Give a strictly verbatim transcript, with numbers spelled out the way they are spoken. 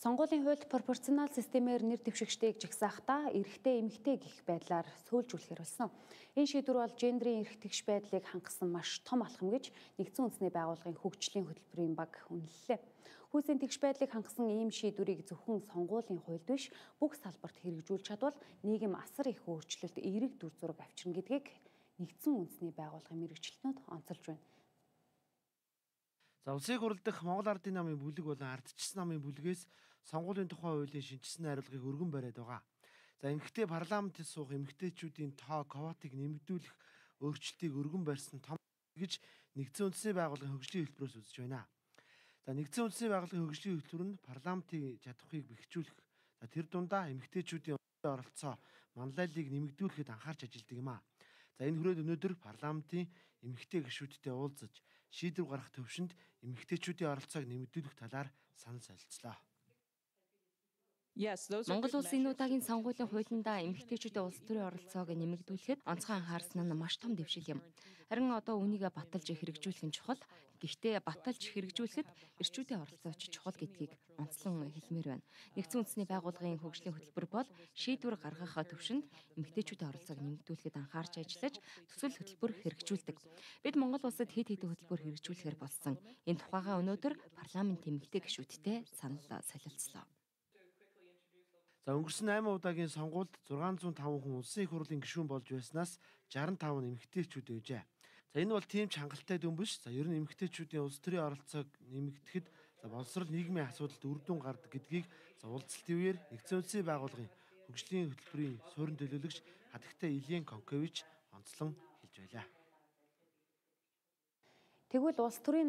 Сонгуулийн хуульд пропорционал системээр нэр дэвшигчдийг жигсаахтаа эрэгтэй эмэгтэй гэх байдлаар сөүлжүүлэхээр болсон. Энэ шийдвэр бол гендрийн эрх тэгш байдлыг хангасан маш том алхам гэж нэгдсэн үндэсний байгууллагын хөгжлийн хөтөлбөрийн баг үнэллээ. Хүйсийн тэгш байдлыг хангасан ийм шийдвэрийг зөвхөн сонгуулийн хуульд биш бүх салбарт хэрэгжүүлж чадвал нийгэм асар их өөрчлөлт эерэг дүр зураг авчирна гэдгийг нэгдсэн үндэсний байгууллагын мэргэжилтнүүд онцолж байна. За улсыг хурлдах Монгол Ардын намын бүлэг болон ардчилсан намын бүлгээс сонгуулийн тухай хуулийн шинжилсэн хариулгыг өргөн бариад байгаа. За эмэгтэй парламентд суух эмэгтэйчүүдийн тоо квотыг нэмэгдүүлэх өөрчлөлтийг өргөн барьсан том гэж нэгдсэн үндэсний байгууллагын хөгжлийн хөтөлбөрөөс үзэж байна. За нэгдсэн үндэсний байгууллагын хөгжлийн хөтөлбөр нь парламентын чадварыг бэхжүүлэх, за тэр дундаа эмэгтэйчүүдийн оролцоо манлайллыг нэмэгдүүлэхэд анхаарч ажилладаг юм а. За энэ хүрээд өнөөдөр парламентын эмэгтэй гишүүдтэй уулзаж шийдвэр гаргах төвшөнд эмэгтэйчүүдийн оролцоог нэмэгдүүлэх талаар санал солилцлоо. Монгол улсын энэ удаагийн сонгуулийн хуулиндаа эмэгтэйчүүдийн улс төрийн оролцоог нэмэгдүүлэхэд онцгой анхаарсан нь маш том дэвшил юм. Харин одоо үүнийг баталж хэрэгжүүлэх нь чухал. Гэхдээ баталж хэрэгжүүлэхэд эрчүүдийн оролцооч чухал гэдгийг онцлон хэлмээр байна. Нэгдсэн үндэсний байгууллагын хөгжлийн хөтөлбөр бол шийдвэр гаргах төвшөнд эмэгтэйчүүдийн оролцоог нэмэгдүүлэхэд анхаарч ажиллаж төсөл хөтөлбөр хэрэгжүүлдэг. Бид Монгол улсад хэд хэдэн хөтөлбөр хэрэгжүүлэхээр болсон. Энэ тухайга өнөөдөр парламент эмэгтэй гишүүдтэй санал солилцлоо. За өнгөрсөн найман удаагийн сонгуульд зургаан зуун таван хүн улсын их хурлын гишүүн болж байснаас шестьдесят и пять нь эмэгтэйчүүд байжээ. За энэ бол тийм ч хангалттай дүн биш. За ер нь эмэгтэйчүүдийн улс төрийн оролцоог нэмэгдэхэд за боловсрол нийгмийн асуудалд үр дүн гардаг гэдгийг за уулзалтын үеэр нэгдсэн үндэсний байгууллагын хөгжлийн хөтөлбөрийн суурин төлөөлөгч хатагтай Ильен Конкевич онцлон хэлж байлаа. Тэгвэл улс төрийн